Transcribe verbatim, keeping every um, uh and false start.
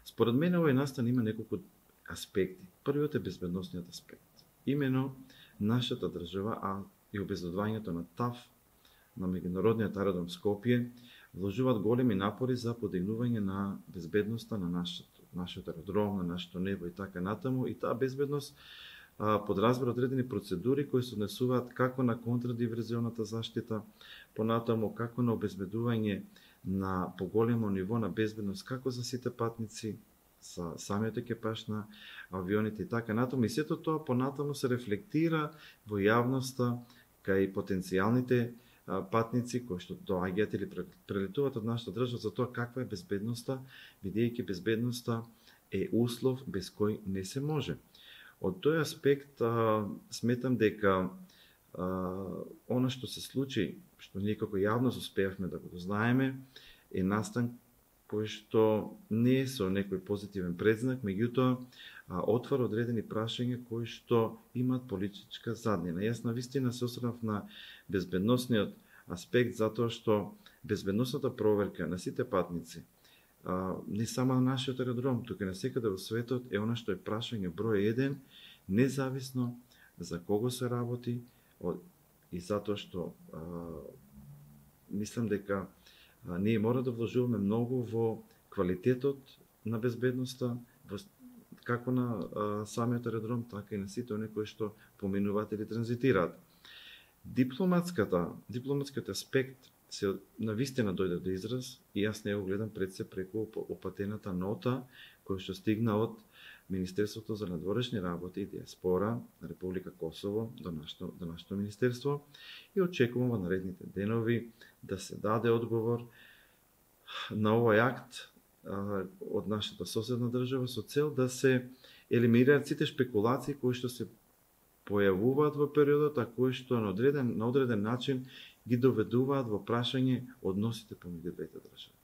Според мене овој настан има неколку аспекти. Првиот е безбедносниот аспект. Имено нашата држава, а и обезбедувањето на ТАВ, на меѓународниот аеродром Скопје, вложуваат големи напори за подигнување на безбедноста на нашето, нашиот аеродром, на нашето небо и така натаму. И таа безбедност а, подразбира одредени процедури кои се однесуваат како на контрадиверзионата заштита, понатаму како на обезбедување на поголемо ниво на безбедност како за сите патници, за самиот екипаж на авионите и така натаму. И сето тоа понатаму се рефлектира во јавноста кај потенцијалните патници кои што доаѓаат или прелетуваат од нашата држава за тоа каква е безбедноста, бидејќи безбедноста е услов без кој не се може. Од тој аспект а, сметам дека а, она што се случи, што ние како јавност успеавме да го знаеме, е настан кој што не е со некој позитивен предзнак, меѓутоа отвара одредени прашања кои што имаат политичка заднина. Јас навистина се осрнав на безбедносниот аспект затоа што безбедносната проверка на сите патници, не само на нашиот аеродром, туку и на секаде во светот, е она што е прашање број еден, независно за кого се работи и затоа што а, мислам дека а, ние мора да вложуваме многу во квалитетот на безбедноста, во како на а, самиот аеродром, така и на сите оние кои што поминуваат или транзитираат. Дипломатската, дипломатскиот аспект се навистина дојде до израз и јас не го гледам пред се преку опатената нота која што стигна од Министерството за надворешни работи и диаспора на Република Косово до нашето, до нашето министерство и очекувам во наредните денови да се даде одговор на овој акт а, од нашата соседна држава со цел да се елиминираат сите шпекулации кои што се појавуваат во периодот, а кои што на одреден, на одреден начин ги доведуваат во прашање односите помеѓу двете држави.